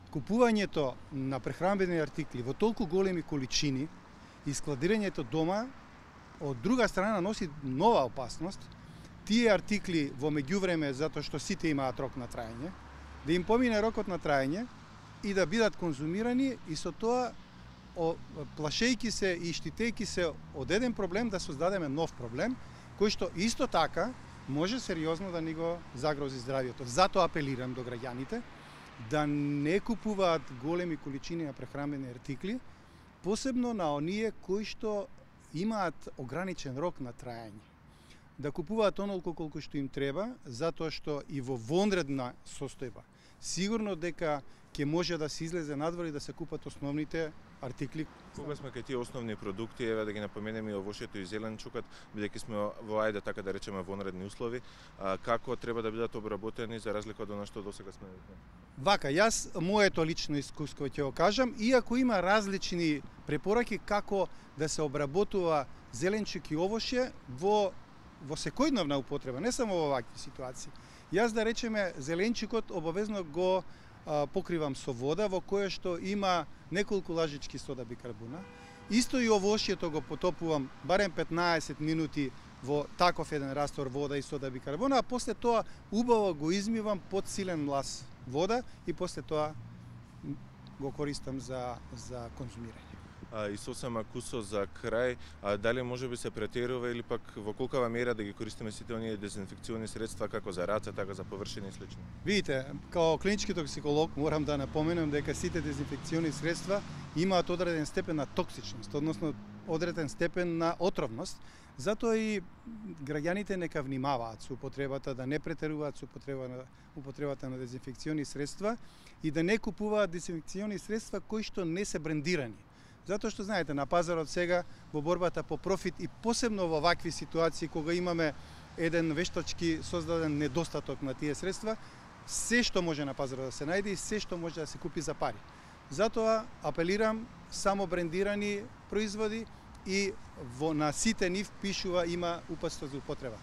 Купувањето на прехранбени артикли во толку големи количини и складирањето дома од друга страна носи нова опасност. Тие артикли во меѓувреме, затоа што сите имаат рок на траење, да им помине рокот на траење и да бидат конзумирани и со тоа плашејќи се и штитејќи се од еден проблем да создадеме нов проблем, кој што исто така може сериозно да ни го загрози здравието. Затоа апелирам до граѓаните да не купуваат големи количини на прехранбени артикли, посебно на оние кои што имаат ограничен рок на траење. Да купуваат онолку колку што им треба, затоа што и во вонредна состојба сигурно дека ќе може да се излезе надвор и да се купат основните артикли. Кога сме кај тие основни продукти, еве да ги напоменеме и овошјето и зеленчукот, бидејќи сме во ајде така да речеме вонредни услови, како треба да бидат обработени за разлика од она што досега сме видели? Вака, јас моето лично искуство ќе го кажам, иако има различни препораки како да се обработува зеленчук и овошје во секојдневна употреба, не само во вакви ситуации. Јас да речеме зеленчукот обавезно го покривам со вода во која што има неколку лажички сода бикарбона. Исто и овошјето го потопувам барем 15 минути во таков еден раствор вода и сода бикарбона, а после тоа убаво го измивам под силен млас вода и после тоа го користам за конзумирање. И сосема кусо за крај, дали може би се претерува или пак во колкава мера да ги користиме сите оние дезинфекциони средства како за раце, така за површини и слично? Видите, као клинички токсиколог морам да напоменам дека сите дезинфекциони средства имаат одреден степен на токсичност, односно одреден степен на отровност. Затоа и граѓаните нека внимаваат со употребата, да не претеруваат со употребата на дезинфекциони средства и да не купуваат дезинфекциони средства кои што не се брендирани. Затоа што знаете, на пазарот сега во борбата по профит и посебно во вакви ситуации кога имаме еден вештачки создаден недостаток на тие средства, се што може на пазарот да се најде и се што може да се купи за пари. Затоа апелирам само брендирани производи и на сите нив пишува има упатство за употреба.